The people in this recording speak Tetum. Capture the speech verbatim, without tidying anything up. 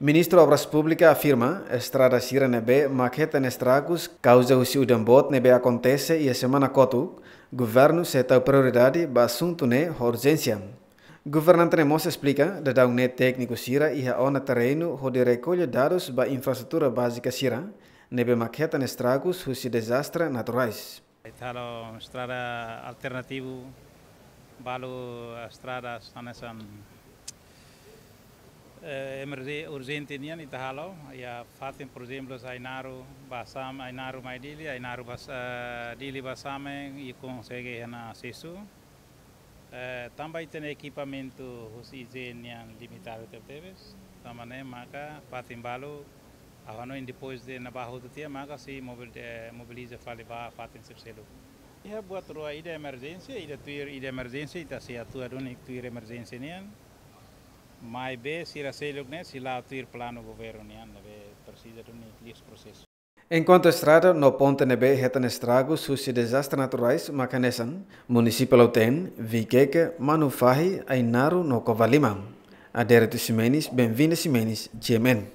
Ministru Obras Públikas afirma, estrada sira ne'ebé mak hetan estragus kauza husi udan boot ne'ebé akontese iha semana kotuk, governu sei tau prioridade ba asuntu ne'e ho urjénsia. Governante ne'e mós esplika, daudaun ne'e tékniku sira iha ona terrenu hodi rekolla dadus ba infraestrutura bázika sira ne'ebé mak hetan estragus husi dezastre naturais. Ita halo estrada alternativu, balu estrada hanesan, eh, emerje-, urjente nian ita halo, iha fatin, por ezemplu, Ainaro ba Same, Ainaro mai Dili, Ainaro ba Sa-, Dili ba Same, ita konsege iha ona asesu. Eh, tanba ita-nia ekipamentu husi I G E nian limitadu tebetebes, tanba ne'e maka fatin balu, ha'u hanoin depois de ne'ebá hotu tiha maka sei mobil-, eh, mobiliza fali ba fatin seluk-seluk. Iha buat rua, ida emerjénsia, ida tuir, ida emerjénsia, ita sei atua duni tuir emerjénsia nian. Maibé sira seluk ne'e sei la'o tuir planu governu nian, ne'ebé presiza duni liu prosesu. Enkuantu estrada no ponte ne'ebé hetan estragus husi dezastre naturais mak hanesan, Munisípiu Lautém, Viqueque, Manufahi, Ainaro no Covalima. Adérito Ximenes, Benvinda Ximenes, G M N.